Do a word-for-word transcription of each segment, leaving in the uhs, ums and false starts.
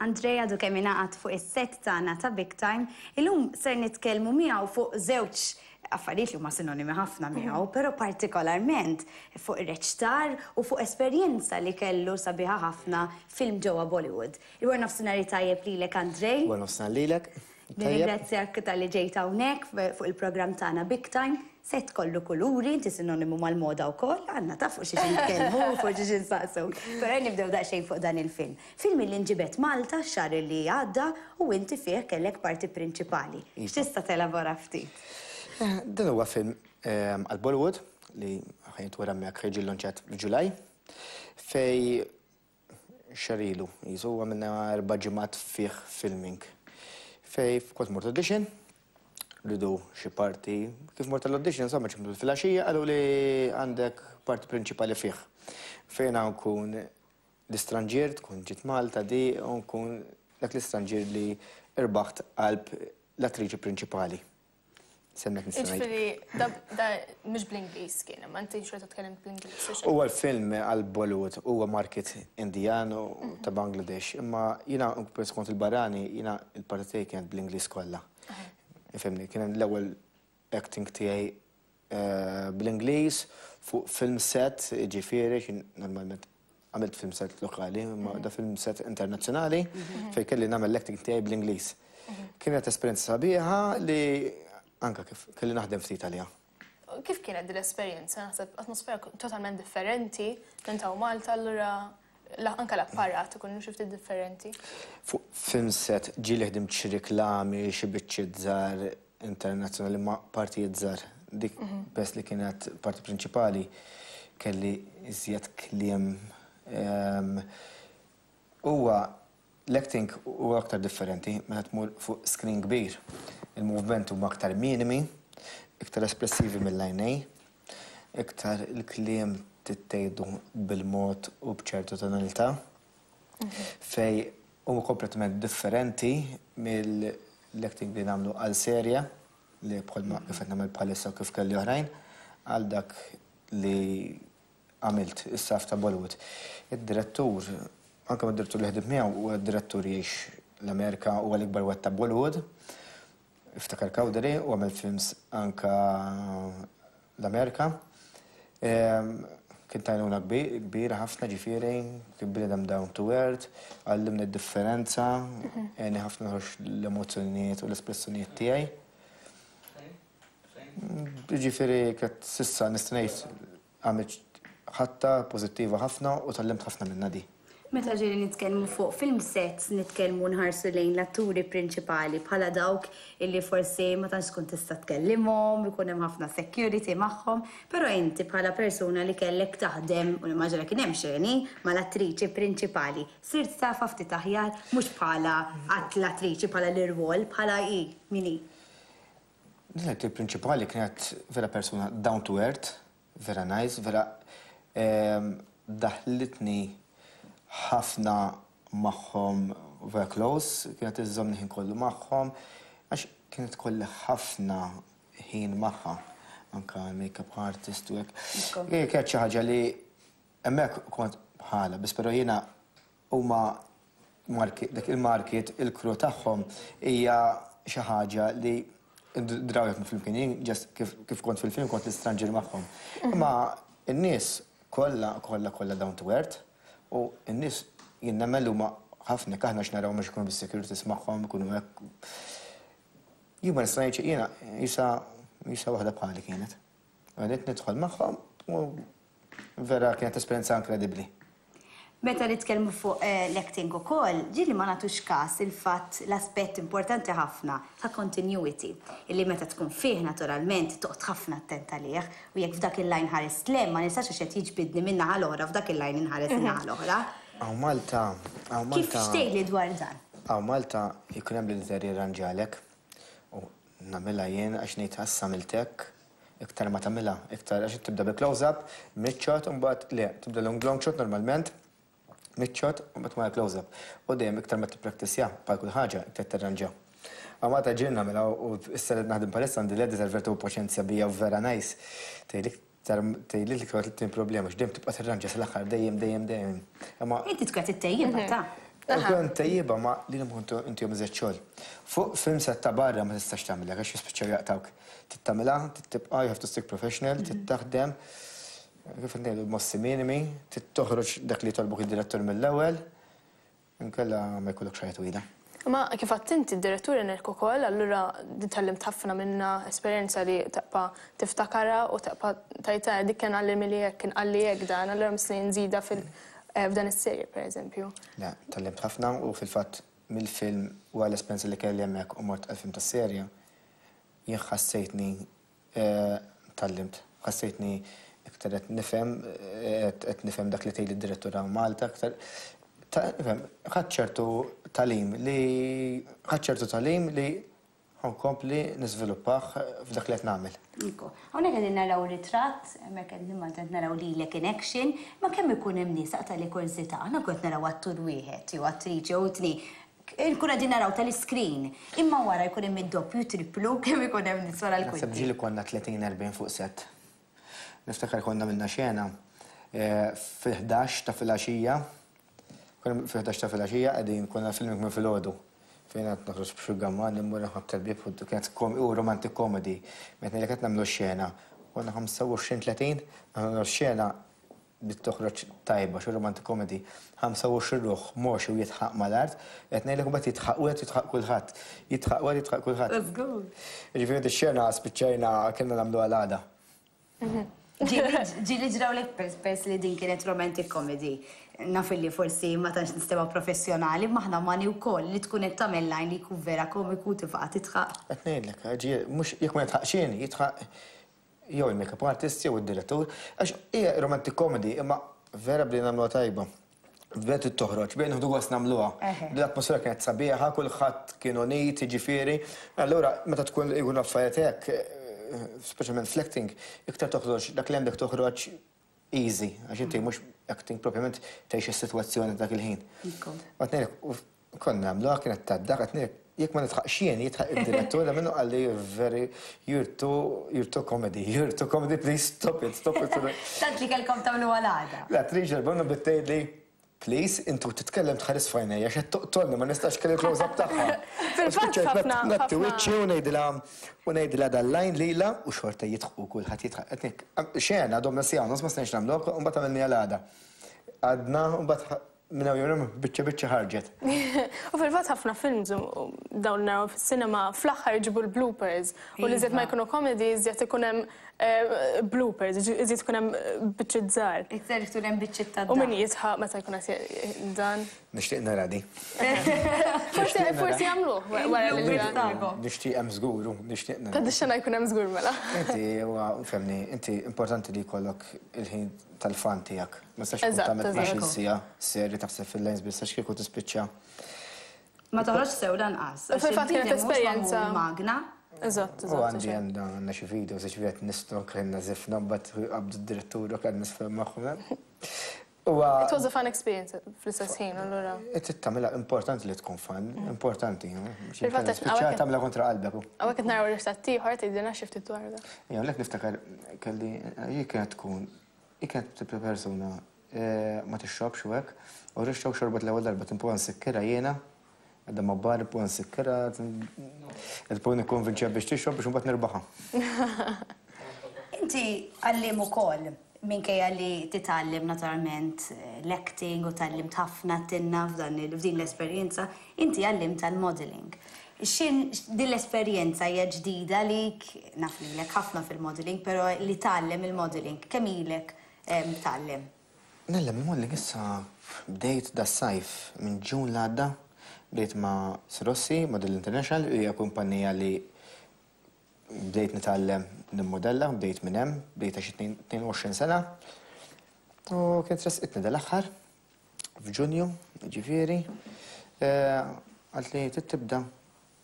Andrej għadu kemm ingħaqad fuq is-set tagħna ta' Big Time. Illum ser nitkellmu miegħu fuq żewġ affarijiet li huma sinonimi ħafna miegħu, però partikolarment fuq ir-reċtar u fuq esperjenza li kellu sabiħa ħafna film ġewwa Bollywood. Il-wara nofsinhar tajjeb lilek, Andrej. Wara nofsinhar lilek. Nirringrazzjak talli ġejt hawnhekk fuq il-programm tagħna Big Time. Set kollu kuluri, inti sinonimu mal-moda wkoll, għandna ta' fuq xiex nitkellmu, fuq xiex insaqsu. Però nibdew daqsxejn fuq dan il-film. Film li nġibet Malta x-xahar li għadda u inti fih kellek parti prinċipali. Iva. X'tista' telabora ftit? Eh, Dan huwa film ehm, għal Bollywood li ħa jintwera hemmhekk, ħa jiġi llonċjat f'Ġulaj, fejn xahar ilu, jisu għamilna erba' ġimgħat fih filming. Fejn kont mort audition, riedu xi parti, kif mort l-audition, insomma, ċemplu fil-għaxija, qalu li għandek parti prinċipali fih. Fejn nkun l-istranġier, tkun ġiet Malta di, u nkun dak l-istranġier li irbaħt qalb l-attriċi prinċipali. Semmek nista' ngħid. Ġifieri, da da mhux bl-Ingliż kien, ma inti xorta tkellem bl-Ingliż. U xejn. Huwa l-film għal Bollywood, huwa market Indijan u ta' Bangladesh, imma jiena peress kont il-barrani, jiena il-parti tiegħi kienet bl-Ingliż kollha. Ifhimni, kien l-ewwel acting tiegħi eh, bl-Ingliż fuq film set, ġifieri, xin normalment għamilt film set lokali, imma da film set internazzjonali fejn kelli nagħmel l-acting tiegħi bl-Ingliż. Kienet esperjenza sabiħa li anka kif kelli naħdem ftit għaliha. Kif kienet din l-esperjenza? Naħseb atmosfera totalment differenti minn ta' Malta, allura la- anka l-apparat ikun xi ftit differenti. Fuq film set ġieli ħdimt xi reklami, xi biċċiet żgħar internazzjonali, ma partijiet żgħar. Dik bes li kienet parti prinċipali kelli iżjed kliem. Ehm, Huwa l-acting huwa aktar differenti meta tmur fuq screen kbir. Il-movement huma aktar minimi, iktar espressivi mill-għajnej, iktar il-kliem tittejdu bil-mod u bċertu tonalità, fejn huma kompletament differenti mill-acting li nagħmlu għal serja li bħalma kif qed nagħmel bħalissa u kif kelli oħrajn għal dak li għamilt issa ta' Bollywood. Id-direttur, anke mad-direttur li ħdimt miegħu, huwa direttur jgħix l-Amerika, huwa l-ikbar wieħed ta' Bollywood. Iftakar Cowdery u għamel films anka l-Amerika. Ehm, Kien tajnuna kbira ħafna, ġifieri, kien bniedem down to earth, għallimni d-differenza, għeni ħafna noħroġ l-emozzjonijiet u l-espressjonijiet tiegħi. Ġifieri, kienet s'issa nista' ngħid għamilt ħaġa pożittiva ħafna u tgħallimt ħafna minna di. Meta ġieli nitkellmu fuq film sets, nitkellmu nħarsu lejn l-atturi prinċipali bħala dawk illi forsi ma tantx tkun tista' tkellimhom, ikun hemm ħafna security magħhom, però inti bħala persuna li kellek taħdem u nimmaġina kien hemm xeni mal-attriċi prinċipali, sirt tafha ftit aħjar mhux bħala l-attriċi, bħala l-irwol, bħala i min hi? L-attriċi prinċipali kienet vera persuna down to earth, vera nice, vera ehm, daħlitni ħafna magħhom, vera close, kienet iżżomni ħin kollu magħhom, għax kienet kolli ħafna ħin magħha, anka make-up artist u hekk. Kienet xi ħaġa li hemmhekk kont bħala, biss però jiena huma dak il-market, il-crew tagħhom hija xi ħaġa li draw jekk fil-film kien just kif kont fil-film kont l-istranġir magħhom. Imma n-nies kollha kollha kollha down to earth u n-nies jien nemmen huma ħafna aħna x'naraw mhux ikunu bis-securities magħhom, ikunu hekk. Jien ma nista' ngħid jiena jisa jisa waħda bħali kienet. Għadet nidħol magħhom u vera kienet esperjenza inkredibbli. Meta nitkellmu fuq eh, l-acting ukoll, ġieli ma nagħtux każ il-fatt l-aspett importanti ħafna ta' continuity, illi meta tkun fih naturalment toqgħod ħafna attent għalih u jekk f'dak il-line ħares lem ma nistax għax qed jiġbidni minn naħa l-oħra, f'dak il-line inħares in-naħa l-oħra. Hawn Malta, hawn Kif Malta. xtejli dwar dan? Hawn Malta jkun hemm l-editor jirranġalek u nagħmilha jien għax ngħid issa għamiltek, iktar ma tagħmilha, iktar għax tibda bi close-up, mid shot, u mbagħad le, tibda long long shot normalment, mid shot u mbagħad ma close-up. U dejjem iktar ma tippraktisja bħal kull ħaġa, iktar tirranġa. Hawn Malta ġieli nagħmilha u issa li naħdem palissa għandi l-editor vertu paċenzja bija u vera nice. Tgħidlik tgħidli li kont tin problema x'dejjem tibqa' tirranġa sal-aħħar dejjem dejjem dejjem. Imma Inti tkun qed ittejjibha ta'. Kun tajjiba ma li l inti jom xogħol. Fuq film set ta' barra ma tistax tagħmilha għax jispiċċaw jaqtawk. Tittamilha, tibqa', you have to stick professional, tittaħdem. Kif ngħidu, mossi minimi, tittoħroġ dak li tolbuk id-direttur mill-ewwel, inkella ma jkollok xajja twila. Ma kif għedt inti, d-direttur għenek ukoll, allura tgħallimt ħafna minna, esperjenza li tibqa' tiftakarha u tibqa' tgħid, "Dik kien qalli milli hekk, kien qalli hekk dan, allura missni nżida fil- eh, f'dan is-serje", per eżempju. Le, tgħallimt ħafna u fil-fatt mill-film u għall-esperjenza li kelli hemmhekk u mort għal-film tas-serja, jien ħassejtni eh, tgħallimt, ħassejtni iktar qed nifhem eh, qed nifhem dak li tgħid id-direttur hawn Malta, iktar nifhem, ħadt ċertu tagħlim li ħadt ċertu tagħlim li ħa nkompli niżviluppah f'dak li qed nagħmel. Iko. Hawnhekk qegħdin naraw ritratt, hemmhekk qegħdin Malta naraw lilek in action, ma kemm ikun hemm nies, aqta' li kurżità, aħna kont naraw attur wieħed jew attriċi jew tnejn. Nkun qegħdin naraw tal-screen, imma wara jkun hemm id-doppju, triplu, kemm ikun hemm nies wara Naħseb l-kwinti? Ġieli konna tletin erbgħin fuq set. Niftakar konna minna xena eh, fil-ħdax ta' filgħaxija, konna fil-ħdax ta' filgħaxija qegħdin, konna filming minn filgħodu. Fejn qed noħroġ b'xugaman, immur nħobb tal-bib, u kienet kom- u romantic comedy. Meta li qed nagħmlu xena, konna ħamsa u għoxrin tletin, nagħmlu xena bit toħroġ tajba, xi romantic comedy. ħamsa u għoxrin ruħ moxi u jidħaq mal-art, qed ngħidlek mbagħad jidħaq u qed jidħaq kulħadd. Jidħaq u jidħaq kulħadd. Let's go. Ġifieri x-xena spiċċajna kellna nagħmlu għal-għada. Ġieli ġrawlek, pers li din kienet romantic comedy? Naf li forsi ma tantx nistema professjonali, ma aħna mani wkoll li tkun qed tagħmel line li jkun vera komiku, tifqa' tidħaq. Qed ngħidlek, ġie mhux jekk ma jidħaqx jien, jidħaq jew il-makeup artist jew id-direttur, għax hija romantic comedy, imma vera bdejna nagħmluha tajba. Vera trid toħroġ, bejn nieħdu gost nagħmluha. Eħe. L-atmosfera kienet sabiħa, kulħadd kien unit, jiġifieri. Allura meta tkun ikun affarijiet hekk, eh, speċjalment fl-acting, iktar toħroġ dak li għandek, toħroġ easy, għax inti mhux acting propjament, tgħix is-sitwazzjoni dak il-ħin. Ikko. Qed ngħidlek, u konna nagħmluha, kienet taddak, qed ngħidlek, jekk ma nidħaqx jien, jidħaq id-direttur, da minnu qalli, "Very, you're too, you're too comedy, you're too comedy, please stop it, stop it." Tant li kellkom tagħmlu għal-għada. L-attriċi l-bonna bittejt li, "Please, intu titkellem tħares f'għajnejja, xed toqtolni, ma nistax kelli close-up tagħha." Fil-fatt ħafna- Natti ħafna- wiċċi u ngħidilha u ngħidilha dal-line lila u xorta jidħqu, kulħadd jidħaq. Qed xena domna siegħa nofs ma stajniex nagħmlu, u mbagħad għamilni għal-għada. Għadna u mbagħad minn hawn jum biċċa biċċa ħarġet. U fil-fatt ħafna films u dawn naraw fis-cinema fl-aħħar jġibu l-bloopers u li iżjed ma jkunu comedy, iżjed ikun hemm eh, bloopers, iżjed ikun hemm eh, biċċiet żgħar. Iktar ikun hemm biċċiet ta' U min jidħaq meta jkun qed dan. Nixtieq nara di. Forsi forsi jagħmluh wara li Il-bloopers dan. tagħkom. Nixtieq hemm żgur, nixtieq nara. Ta' dix-xena jkun hemm żgur mela. Inti, huwa, fhimni, inti importanti li jkollok il-ħin tal-fun tiegħek. Ma tistax tkun Eżatt, tagħmel eżatt. tnax-il siegħa serji taħseb fil-lines biss, għax kieku tispiċċa. Ma toħroġ sew lanqas. U fil-fatt kienet esperjenza. Magna. Eżatt, U eżatt. għandi għandna għandna xi video, se xi nistgħu kellna żifna, mbagħad qabdu d-direttur u kien nisfhem magħhom. Huwa It was a fun experience fl-istess ħin, allura. Inti tagħmilha, importanti li tkun fun, importanti. Fil-fatt qed- Spiċċa tagħmilha kontra qalbek. Hawnhekk qed naraw ritratt ieħor, tgħidilna xi ftit dwar da. Jew lek niftakar kelli hi kienet tkun hi kienet tip ta' persuna eh, ma tixrobx u hekk, u rixxew xorbet l-ewwel darba, timpu nsikkirha jiena, għadda ma bar impu nsikkirha, il-punt nikkonvinċja biex tixrob biex imbagħad nirbaħha. Inti għalliem ukoll, minkejja li titgħallem naturalment eh, l-acting u tgħallimt ħafna tinna f'dan il- f'din l-esperjenza, inti għalliem tal-modeling. Xin din l-esperjenza hija ġdida lik, naf lilek ħafna fil-modeling, però li tgħallem il-modeling, kemm ilek em, tgħallem? Ngħallem il-modeling issa bdejt da sajf minn Ġun l-għadda, bdejt ma' Sirossi, Model International, hija kumpanija li bdejt nitgħallem nimmodella, bdejt minn hemm, bdejt għax tnejn u għoxrin sena. U kienet resqitni dal-aħħar f'Ġunju, ġifieri, qaltli tibda,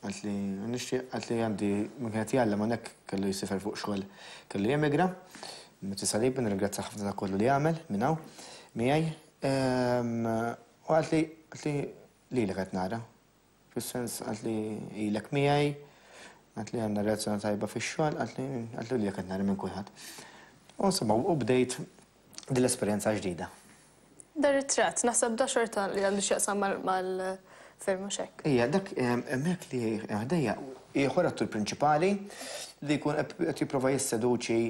qaltli nixtieq, qaltli għandi min kienet jgħallem hawnhekk kellu jsifer fuq xogħol, kellu jemigra. Meti Salib, nirringrazzja ħafna ta' kollu li għamel minn hawn miegħi. U qaltli qaltli lilek qed nara. Fis-sens qaltli ilek miegħi, qaltli għandna relazzjoni tajba fix-xogħol, qaltli qaltli lilek qed nara minn kulħadd. U insomma, u bdejt din l-esperjenza ġdida. Dar ritratt, naħseb da xorta li għandu x'jaqsam mal-film u hekk. Ija, dak hemmhekk li ħdejja, ieħor attur prinċipali li jkun qed jipprova jisseduċi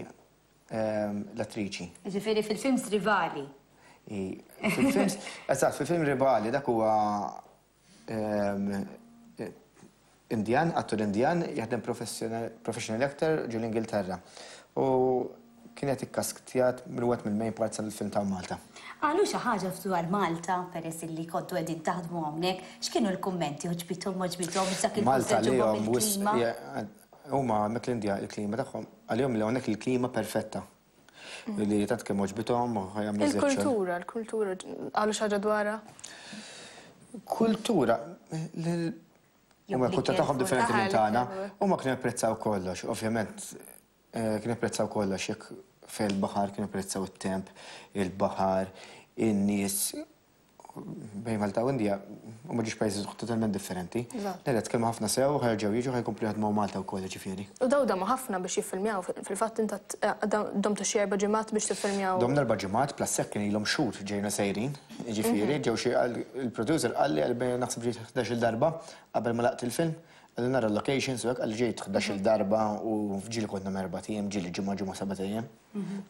l-attriċi. Ġifieri fil-films rivali. Fil-films, eżatt, fil-film rivali dak huwa Indjan, attur Indjan, jaħdem professional actor ġol Ingilterra. U kienet ikkaskjat minn mill-main parts tal-film ta' Malta. Qalu xi ħaġa dwar Malta, peress li kontu qegħdin taħdmu hawnhekk, x'kienu l-kummenti, għoġbithom, għoġbithom, dak Malta li huma hemmhekk l-Indja il-klima tagħhom, għalihom li hawnhekk il-klima perfetta. Li tant kemm għoġbithom u ħajamlu. Il-kultura, il-kultura, qalu xi ħaġa dwarha? Kultura, huma l-kultura tagħhom differenti minn tagħna, huma kienu japprezzaw kollox, ovvjament kienu japprezzaw kollox, jekk fil-baħar kienu japprezzaw it-temp, il-baħar, in-nies. Bejn Malta u Indja huma ġiex pajjiżi totalment differenti. Lera tkellmu ħafna sew, ħerġgħu jiġu ħajkomplu jaħdmu Malta wkoll ġifieri. U daw damu ħafna biex jiffilmjaw, fil-fatt inta domtu xi erba' ġimgħat biex tiffilmjaw. Domna erba' ġimgħat plus hekk kien ilhom xhur ġejna sejrin, ġifieri ġew xi il-producer qalli għal naħseb ġejt ħdax-il darba qabel ma laqt il-film. Għalli nara locations u hekk qalli ġejt ħdax-il darba u ġieli konna erba' ijiem, ġieli ġimgħa ġimgħa seba' ijiem,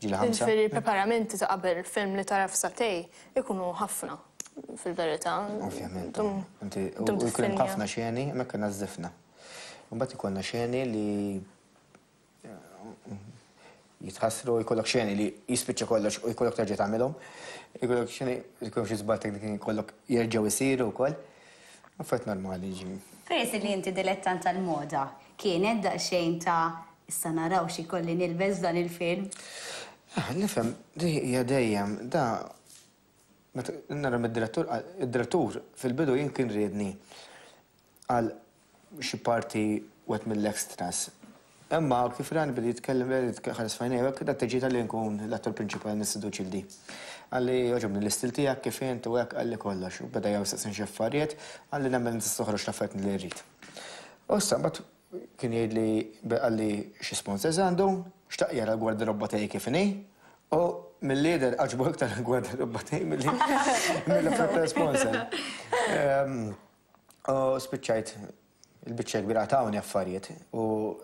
ġieli ħamsa. Ġifieri preparamenti ta' qabel il-film li tara f'satej ikunu ħafna. Fil-verità. Ovvjament. Inti u jkun ħafna xeni, hemmhekk kellna żifna. Mbagħad ikollna xeni li jitħassru, jkollok xeni li jispiċċa kollox u jkollok terġa' tagħmilhom. Jkollok xeni, jkollok xi żball tekniku jkollok jerġgħu jsiru wkoll. Affarijiet normali ġi. Peress li inti dilettant tal-moda, kienet daqsxejn ta' issa naraw xi kolli nilbes dan il-film? Nifhem, di hija dejjem da nara mid-direttur, id-direttur fil-bidu jien kien riedni għal xi parti wet mill-extras. Imma kif rani bidi jitkellem ħares fajnej, hekk da teġi tal-li nkun l-attur prinċipali nisseduċi l-di. Qalli għoġobni l-istil tiegħek kif int u hekk qalli kollox. U beda jawsaqsin xi affarijiet, qalli nemmen tista' toħroġ l-affarijiet li rrid. U issa mbagħad kien jgħidli qalli xi sponsors għandu, xtaq jara l-gwardarobba tiegħi kif inhi, u mill-lider għaġbu iktar l-gwardarobba tiegħi mill-affarijiet sponsor. U spiċċajt il-biċċa kbira tawni affarijiet u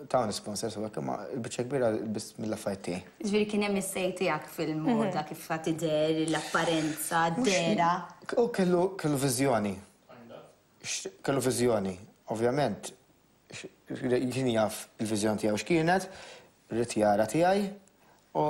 tawni sponsors u hekk, imma il-biċċa kbira biss mill-affarijiet tiegħi. Ġifieri kien hemm is-sej tiegħek fil-moda kif tidher, l-apparenza, d-dera. U kellu kellu viżjoni. Kellu viżjoni, ovvjament kien jaf il-viżjoni tiegħu x'kienet, ried jara tiegħi u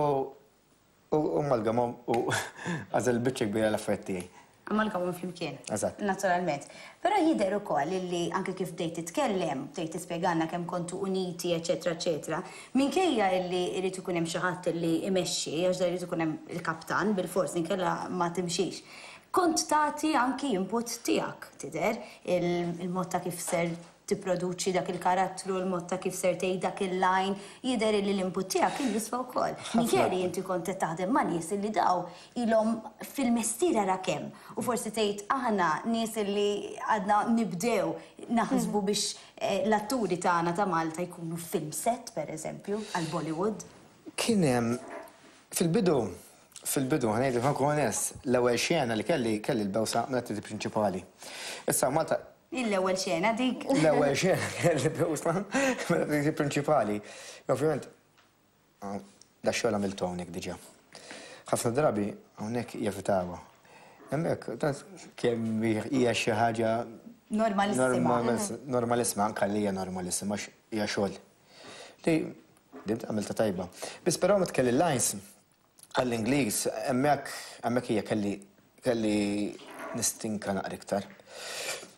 u amalgamhom u għażel il-biċċa kbira l-affarijiet tiegħi. Amalgamhom flimkien. Eżatt. Naturalment. Però jidher ukoll illi anke kif bdejt titkellem, bdejt tispjegalna kemm kontu uniti, eċetera, eċetera. Minkejja illi jrid ikun hemm xi ħadd illi imexxi, għax da jrid ikun hemm il-kaptan bil-fors inkella ma timxix. Kont tagħti anki input tiegħek tidher il-mod ta' kif ser tipproduċi dak il-karattru, il-mod ta' kif ser tgħid dak il-line, jidher li l-input tiegħek kien jiswa wkoll. Minkejja li inti kont qed taħdem ma' nies illi daw ilhom fil-mestier ara kemm. U forsi tgħid aħna nies illi għadna nibdew naħsbu biex l-atturi tagħna ta' Malta jkunu film set, pereżempju, għal Bollywood. Kien hemm fil-bidu, fil-bidu, ħa ngħidu ħa nkun onest, l-ewwel xena li kelli kelli l-bewsa mill-atturi prinċipali. Issa Malta L-ewwel xena dik. L-ewwel xena kelli bewsa mill-atturi prinċipali. Ovvjament, da xogħol għamiltu hawnhekk diġà. Ħafna drabi hawnhekk jevitawha. Hemmhekk kemm hija xi ħaġa Normalissima. Normalissima, anke li hija normalissima għax hija xogħol. Li dimt għamilta tajba. Biss però meta kelli lines għall-Ingliż, hemmhekk hemmhekk hija kelli kelli nistinka naqra iktar.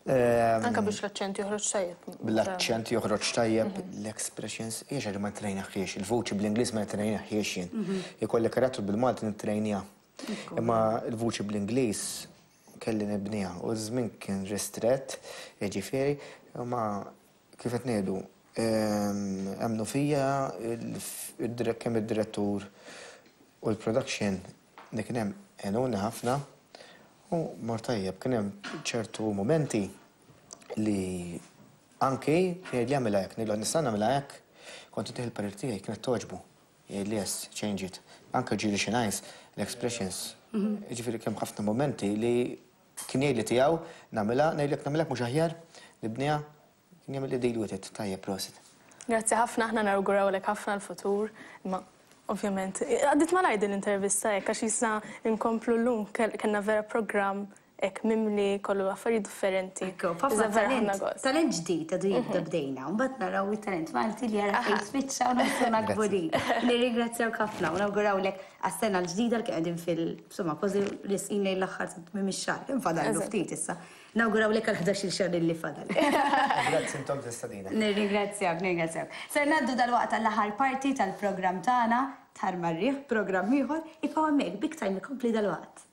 Anka biex l-aċċent joħroġ tajjeb. Bl-aċċent joħroġ tajjeb, l-expressions, hija xi ħaġa ma ntrejnaħiex, il-vuċi bl-Ingliż ma ntrejnaħiex jien. Ikolli karattru bil-Malti nittrejnija. Imma l-vuċi bl-Ingliż kelli nibniha u ż-żmien kien ristrett, jiġifieri, imma kif qed ngħidu, emmnu fija kemm id-direttur u l-production li kien hemm għenuni ħafna u mor tajjeb, kien hemm ċertu momenti li anki jgħid li għamilha hekk, ngħidlu nista' nagħmilha hekk, kont intih il-parir tiegħi kienet togħġbu. Jgħid li yes, change it. Anke ġieli xi nice, l-expressions. Ġifieri kemm ħafna momenti li kien jgħidli tiegħu nagħmilha, ngħidlek nagħmilha mhux aħjar, nibniha, kien jagħmel li deal with it, tajjeb, prosit. Grazzi ħafna, aħna nawgurawlek ħafna l-futur, ma ovvjament, għaddit malajr din l-intervista hekk, għax issa nkomplu llum, kellna vera programm hekk mimli kollu affarijiet differenti. Ekku, ħafna talent, talent ġdid għadu jibda bdejna, u mbagħad naraw it-talent Malti li jara fejn spiċċa u nħossuna kburin. Nirringrazzjaw ħafna u nawgurawlek għas-sena l-ġdida li qegħdin fil, insomma, kważi resqin lejn l-aħħar ta' tmiem ix-xahar. Infadallu ftit issa. Nawgurawlek għal ħdax-il xahar li fadal. Grazzi intom tal-istedina. Nirringrazzjak, nirringrazzjak. Ser ngħaddu dalwaqt għall-aħħar parti tal-programm tagħna, Tar Marriħ, programm ieħor, ibqgħu hemmhekk, Big Time ikompli dalwaqt.